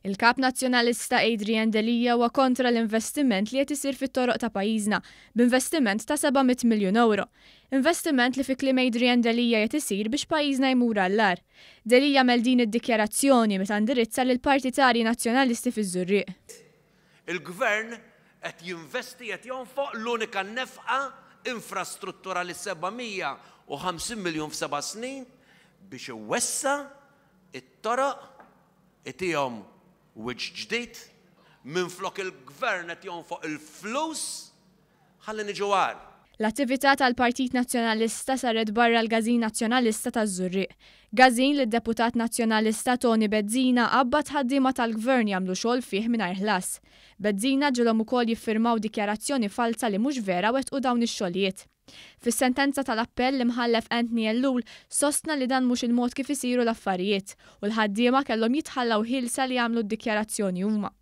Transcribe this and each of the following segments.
Il-Kap Nazzjonalista Adrian Delia huwa kontra l-investiment li qed isir fit-toroq ta' pajjiżna b'investiment ta' 700 miljun ewro. Investiment li fi kliem Adrian Delia qed isir biex pajjiżna jmur għall-agħar. Delia għamel din id-dikjarazzjoni meta indirizza lill-partitarji Nazzjonalisti fiż-Żurrieq. Il-Gvern qed jinvesti, qed jonfoq l-unika nefqa infrastrutturali 750 miljun f'seba' snin biex iwessa' it-toroq, itihom wiċċ ġdid, minflok il-Gvern qed jonfoq il-flus ħalli niġu agħar. L-attività tal-Partit Nazzjonalista saret barra l-Każin Nazzjonalista taż-Żurrieq. Każin li d-Deputat Nazzjonalista Toni Bezzina qabbad ħaddiema tal-Gvern jagħmlu xogħol fih mingħajr ħlas. Bezzina ġilhom ukoll jiffirmaw dikjarazzjoni falza li mhux vera wettqu dawn ix-xogħlijiet. Fis-sentenza tal-appell, l-Imħallef Anthony Ellul sostna li dan mhux il-mod kif isiru l-affarijiet u l-ħaddiema kellhom jitħallew ħielsa li jagħmlu d-dikjarazzjoni huma.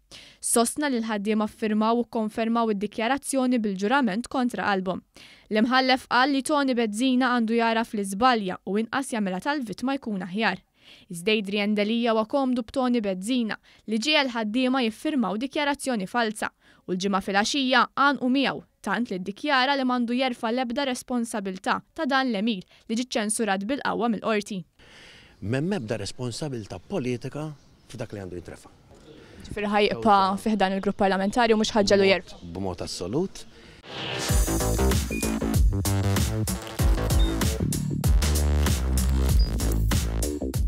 Sostna li l-ħaddiema ffirmaw u kkonfermaw id-dikjarazzjoni bil-ġurament kontra qalbhom. L-Imħallef qal li Toni Bezzina għandu jagħraf li żbalja u inqas jagħmilha tal-vittma jkun aħjar. Iżda Adrian Delia huwa komdu b'Toni Bezzina li ġiegħel ħaddiema jiffirmaw dikjarazzjoni falza u l-Ġimgħa filgħaxija għanqu miegħu tant li ddikjara li m'għandu jerfa' l-ebda responsabilità ta' dan l-għemil li ġie ċċensurat bil-qawwa mill-Qorti. M'hemm ebda responsabilità politika f'dak li għandu jintrefa'. Ġifieri ħa jibqa' fi ħdan il-grupp parlamentari u mhux ħa ġġegħlu jerfa'? B'mod assolut.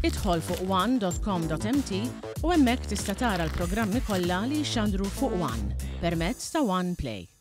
Idħol fuq one.com.mt u hemmhekk tista' tara l-programmi kollha li jixxandru fuq One permezz ta' One Play.